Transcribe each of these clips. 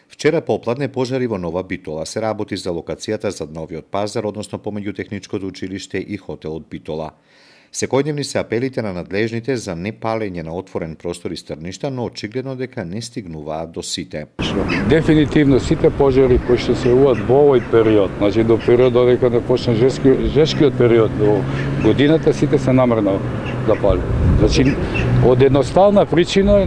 Вчера попладне пожари во Нова Битола. Се работи за локацијата зад новиот пазар, односно помеѓу Техничкото училиште и хотелот Битола. Секојдневни се апелите на надлежните за непалење на отворен простор и стрништа, но очигледно дека не стигнуваат до сите. Дефинитивно сите пожари кои што се јавуваат во овој период, значи до период додека не почне жешкиот период до годината, сите се намерно запали. Значи од едноставна причина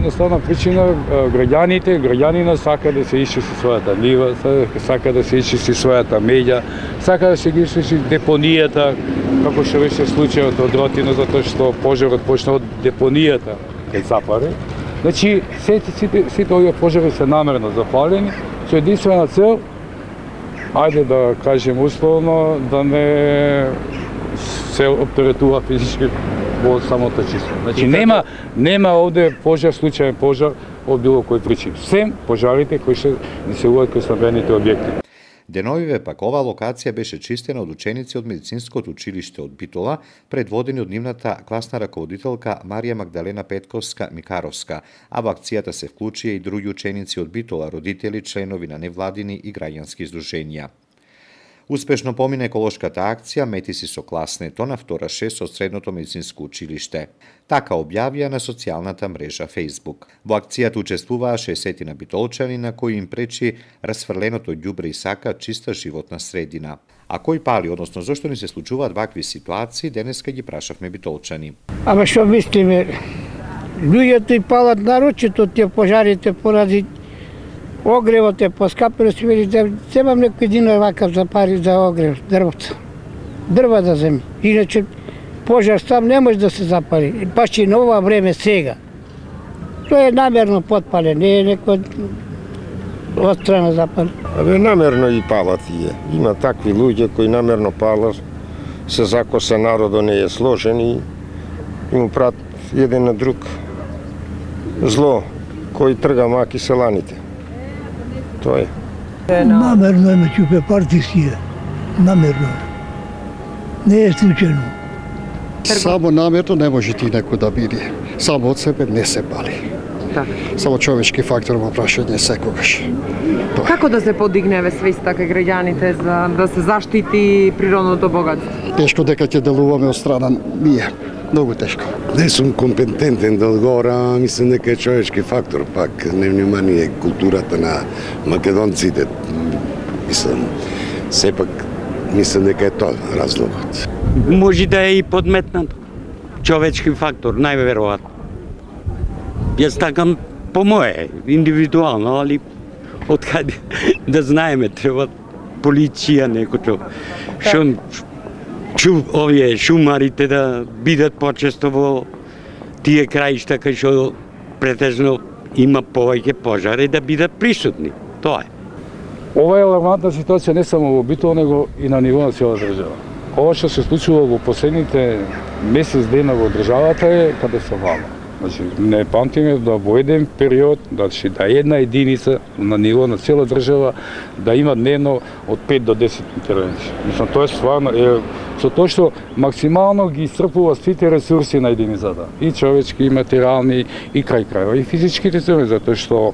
граѓанина сака да се исчисти својата нива, сака да се исчисти својата меѓа, сака да се ги исчисти депонијата, како што беше случајот од Ротино, затоа што пожарот почна од депонијата кај Цапаре. Значи сите овие пожари се намерно запалени со единствена цел, ајде да кажем условно, да не се оператува физички во самото чисто. Значи нема овде пожар, случаен пожар од било кој причина. Сем пожарите кои се јавуваат кај стамбените објекти. Деновиве пак оваа локација беше чистена од ученици од медицинското училиште од Битола, предводени од нивната класна раководителка Марија Магдалена Петковска-Микаровска, а во акцијата се вклучија и други ученици од Битола, родители, членови на невладини и граѓански издруженија. Успешно помина еколошката акција Метиси со класнето на втора 6 од средното медицинско училиште. Така објавија на социјалната мрежа Facebook. Во акцијата учествуваа 60 битолчани на кои им пречи расфрленото ѓубре и сака чиста животна средина. А кој пали, односно зошто ни се случуваат вакви ситуации, денеска ги прашавме битолчани. Ама што мислиме? Луѓето и палат нарочито тие пожарите поради огревот е поскапено, си вели да земам некој динар вакав за пари за огрев, дрва да земи. Иначе пожар сам не може да се запали, баш и на ова време сега. Тоа е намерно потпален, не е некој отстрана запален. Абе, намерно и палат тие. Има такви луѓе кои намерно палат, се закоса народо не е сложен и му прат еден на друг зло, кој трга маки селаните. Тоа е. Намерно е меѓу партисија. Намерно. Не е случајно. Само намерно не може ти некој да биде. Само од себе не се пали. Само човечки фактор во прашање секогаш. Како да се подигневе свеста кај граѓаните за да се заштити природното богатство? Тешко дека ќе делуваме од страна ние. Многу тешко. Не сум компетентен да одговорам, мислам дека е човечки фактор, пак невнимание културата на македонците. Мислам, сепак мислам дека е тоа разлогот. Може да е и подметнато. Човечки фактор, најверојатно. Јас такам по мое, индивидуално, али откаде да знаеме, треба полиција некој овие шумарите да бидат почесто во тие краишта кај што претежно има повеќе пожари да бидат присутни. Тоа е. Ова е алармантна ситуација не само во Битола, него и на ниво на цела држава. Ова што се случува во последните месец дена во државата е катастрофално. Значи, не памтиме да во еден период, да една единица на ниво на цела држава да има дневно од 5 до 10 интервенции. Мислам, тоа е стварно, со тоа што максимално ги исцрпува сите ресурси на единицата, и човечки, и материјални, и крај крајва, и физичките цели, затоа што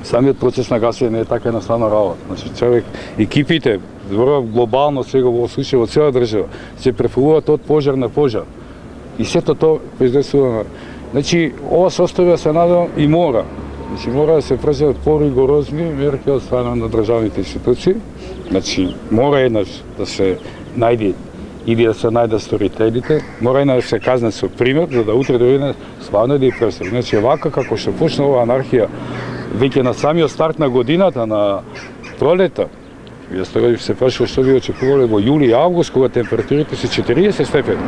самиот процес на гасење не е така едноставна работа. Значи, човек, екипите, глобално сега во случај во цела држава, се префрлуваат од пожар на пожар. И сето тоа произлесува. Значи, ова состојба се надам и мора. Значи, мора да се преземат поригорозни мерки од страна на државните институции. Значи, мора еднаш да се најде или да се најдат сторителите, мора еднаш да се казне со пример, за да утре дојде стварно да ја пресели. Значи, вака како што почна оваа анархија, веќе на самиот старт на годината, на пролета, јас тоа се прашувам што би очекувале во јули и август, кога температурите се 40 степени.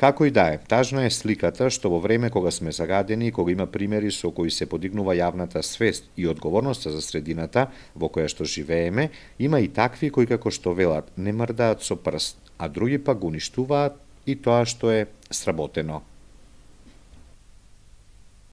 Како и да е, тажна е сликата што во време кога сме загадени и кога има примери со кои се подигнува јавната свест и одговорноста за средината во која што живееме, има и такви кои како што велат не мрдаат со прст, а други пак го уништуваат и тоа што е сработено.